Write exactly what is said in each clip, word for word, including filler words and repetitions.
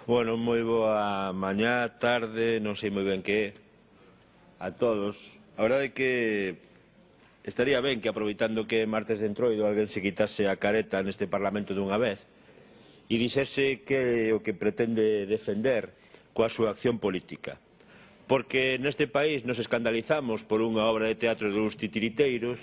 Bueno, moi boa mañá, tarde, non sei moi ben que a todos. A verdade é que estaría ben que, aproveitando que é martes de entroido, alguén se quitase a careta neste Parlamento dunha vez e dixese que o que pretende defender coa súa acción política. Porque neste país nos escandalizamos por unha obra de teatro de uns titiriteiros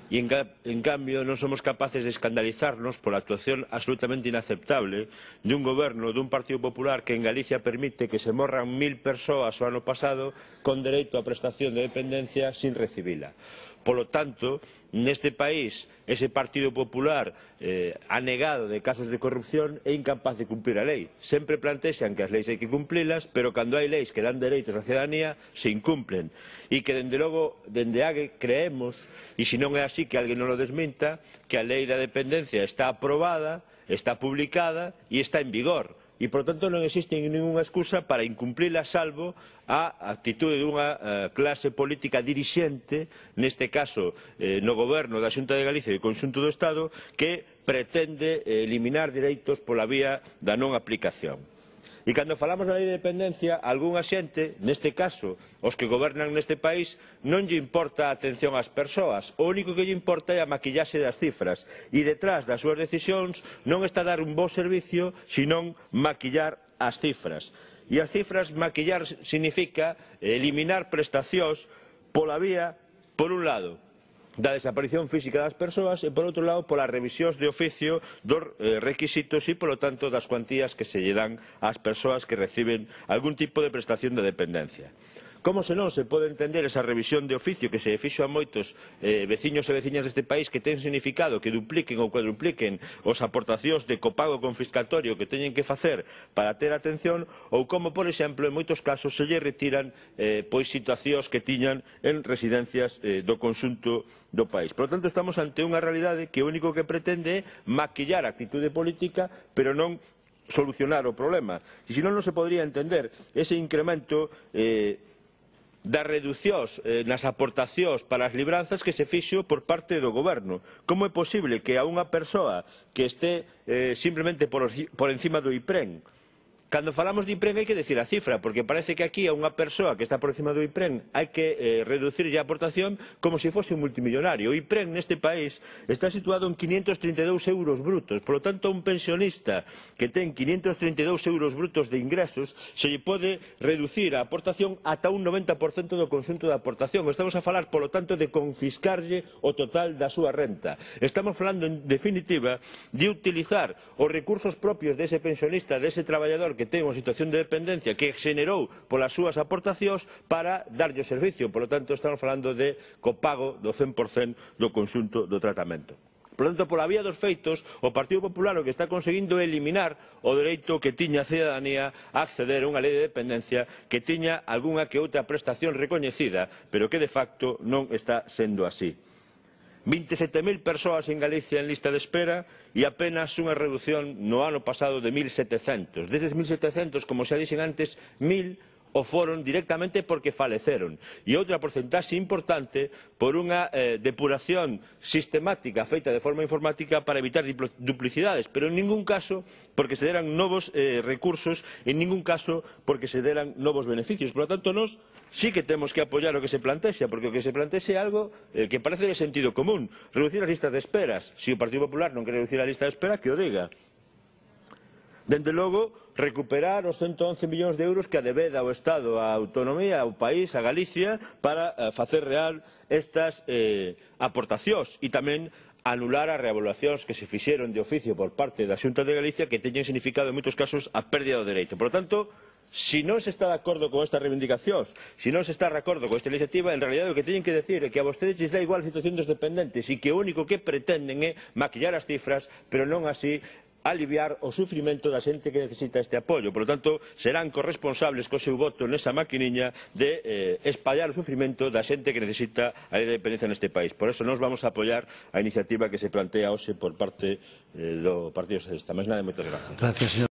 e en, en cambio non somos capaces de escandalizarnos pola actuación absolutamente inaceptable dun goberno dun Partido Popular que en Galicia permite que se morran mil persoas o ano pasado con dereito á prestación de dependencia sin recibila. Polo tanto, neste país, ese Partido Popular eh, anegado de casos de corrupción é incapaz de cumprir a lei. Sempre plantexan que as leis hai que cumplilas, pero cando hai leis que dan dereitos á cidadanía, se incumplen. E que, dende logo, dende AGE creemos, e se non é así que alguén non lo desminta, que a lei da dependencia está aprobada, está publicada e está en vigor. E, por tanto, non existe ningunha excusa para incumplila, salvo a actitude dunha eh, clase política dirixente, neste caso eh, no goberno da Xunta de Galicia e do conxunto do Estado, que pretende eh, eliminar dereitos pola vía da non aplicación. E cando falamos da lei de dependencia, algunha xente, neste caso os que gobernan neste país, non lle importa a atención ás persoas, o único que lle importa é a maquillaxe das cifras, e detrás das súas decisións non está dar un bo servicio, senón maquillar as cifras. E as cifras, maquillar significa eliminar prestacións pola vía, por un lado, da desaparición física das persoas e, por outro lado, polas revisións de oficio dos eh, requisitos e, polo tanto, das cuantías que se lle dan ás persoas que reciben algún tipo de prestación de dependencia. Como senón se pode entender esa revisión de oficio que se fixo a moitos eh, veciños e veciñas deste país, que ten significado que dupliquen ou cuadrupliquen os aportacións de copago confiscatorio que teñen que facer para ter atención, ou como, por exemplo, en moitos casos se lle retiran eh, pois situacións que tiñan en residencias eh, do conxunto do país. Por lo tanto, estamos ante unha realidade que o único que pretende é maquillar a actitude política, pero non solucionar o problema. E senón non se podría entender ese incremento eh, das reducións eh, nas aportacións para as libranzas que se fixo por parte do goberno. Como é posible que a unha persoa que este eh, simplemente por, por encima do IPREN, cando falamos de IPREN hai que decir a cifra, porque parece que aquí a unha persoa que está por encima do IPREN hai que eh, reducirlle a aportación como se fose un multimillonario. O IPREN neste país está situado en quinientos trinta e dous euros brutos, por lo tanto, un pensionista que ten quinientos trinta e dous euros brutos de ingresos se lle pode reducir a aportación ata un noventa por cento do conxunto da aportación. Estamos a falar, por lo tanto, de confiscarlle o total da súa renta. Estamos falando, en definitiva, de utilizar os recursos propios dese pensionista, dese traballador que ten unha situación de dependencia que xenerou polas súas aportacións para darlle o servicio. Por lo tanto, estamos falando de copago do cen por cento do conxunto do tratamento. Por lo tanto, pola vía dos feitos, o Partido Popular o que está conseguindo é eliminar o dereito que tiña a cidadanía a acceder a unha lei de dependencia que tiña algunha que outra prestación recoñecida, pero que de facto non está sendo así. vinte e sete mil persoas en Galicia en lista de espera e apenas unha reducción no ano pasado de mil setecentos. Deses mil setecentos, como xa dixen antes, mil o foron directamente porque faleceron, e outra porcentaxe importante por unha eh, depuración sistemática feita de forma informática para evitar duplicidades, pero en ningún caso porque se deran novos eh, recursos, en ningún caso porque se deran novos beneficios. Por lo tanto, nós sí que temos que apoiar o que se plantexa, porque o que se plantexa é algo eh, que parece de sentido común: reducir as listas de esperas. Se o Partido Popular non quere reducir a lista de espera, que o diga. Dende logo, recuperar os ciento once millóns de euros que adebeda o Estado á autonomía, ao país, a Galicia, para eh, facer real estas eh, aportacións, e tamén anular as reavaliacións que se fixeron de oficio por parte da Xunta de Galicia, que teñen significado en moitos casos a pérdida do dereito. Por lo tanto, si non se está de acordo con estas reivindicacións, si non se está de acordo con esta iniciativa, en realidad o que teñen que decir é que a vostedes lles dá igual a situación dos dependentes e que o único que pretenden é maquillar as cifras, pero non así aliviar o sufrimento da xente que necesita este apoio. Por lo tanto, serán corresponsables co seu voto nesa maquiniña de eh, espallar o sufrimento da xente que necesita a lei de dependencia neste país. Por eso, nós vamos a apoiar a iniciativa que se plantea hoxe por parte eh, do Partido Socialista. Máis nada, moitas gracias. Gracias, señor.